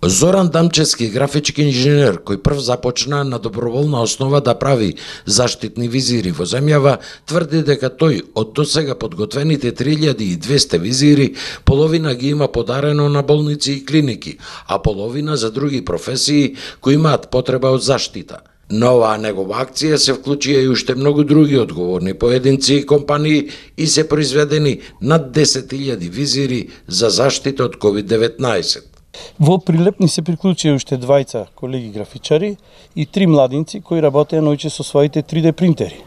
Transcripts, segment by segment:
Зоран Дамчевски, графички инженер, кој прв започна на доброволна основа да прави заштитни визири во земјава, тврди дека тој од досега подготвените 3200 визири, половина ги има подарено на болници и клиники, а половина за други професии кои имаат потреба од заштита. На оваа негова акција се вклучија и уште многу други одговорни поединци и компании и се произведени над 10.000 визири за заштита од COVID-19. Во Прилеп ни се приклучија уште двајца колеги графичари и 3 младинци кои работеа наоѓе со своите 3D принтери.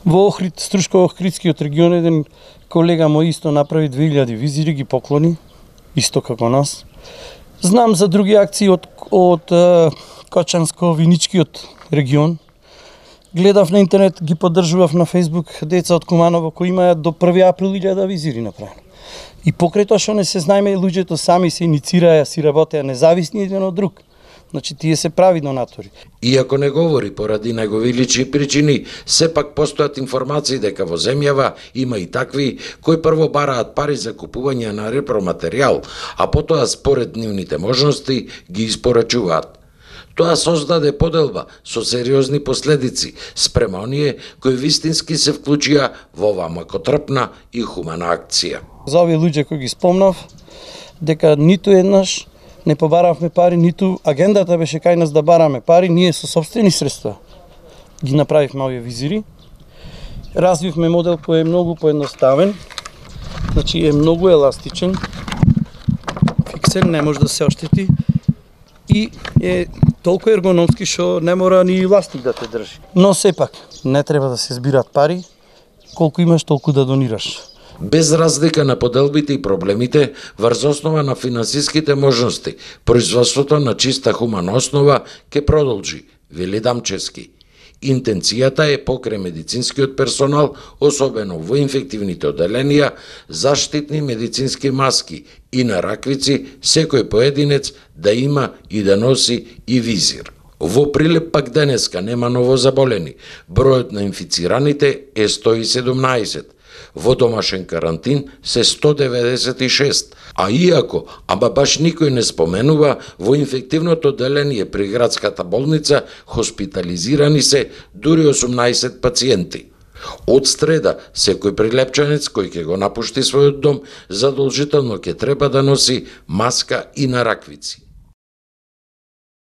Во Охрид, Струшко-Охридскиот регион, еден колега мој исто направи 2000 визири, ги поклони, исто како нас. Знам за други акции од Кочанско-Виничкиот регион. Гледав на интернет, ги поддржував на Facebook деца од Куманово кои имаат до 1 април 1000 визири направени. И покрај тоа што не се знаеме, луѓето сами се иницираа, си работеа независни еден од друг. Значи, тие се прави донатори. Иако не говори поради негови лични причини, сепак постојат информации дека во земјава има и такви кои прво бараат пари за купување на репроматеријал, а потоа според нивните можности ги испорачуваат. Тоа создаде поделба со сериозни последици спрема оние кои вистински се вклучија во оваа макотрпна и хумана акција. За овие луѓе кои ги спомнав, дека ниту еднаш не побаравме пари, ниту агендата беше кај нас да бараме пари, ние со сопствени средства ги направивме овие визири. Развивме модел кој е многу поедноставен, значи е многу еластичен, фиксен, не може да се оштети и е толку ергономски што не мора ни властник да те држи. Но сепак, не треба да се збираат пари, колку имаш толку да донираш. Без разлика на поделбите и проблемите, врз основа на финансиските можности, производството на чиста хумана основа ќе продолжи, вели Дамчевски. Интенцијата е покрај медицинскиот персонал, особено во инфективните оделенија, заштитни медицински маски и на раквици, секој поединец да има и да носи и визир. Во Прилеп пак денеска нема новозаболени. Бројот на инфицираните е 117. Во домашен карантин се 196, а иако, ама баш никој не споменува, во инфективното оделение при градската болница хоспитализирани се дури 18 пациенти. Од среда, секој прилепчанец кој ќе го напушти својот дом, задолжително ќе треба да носи маска и на раквици.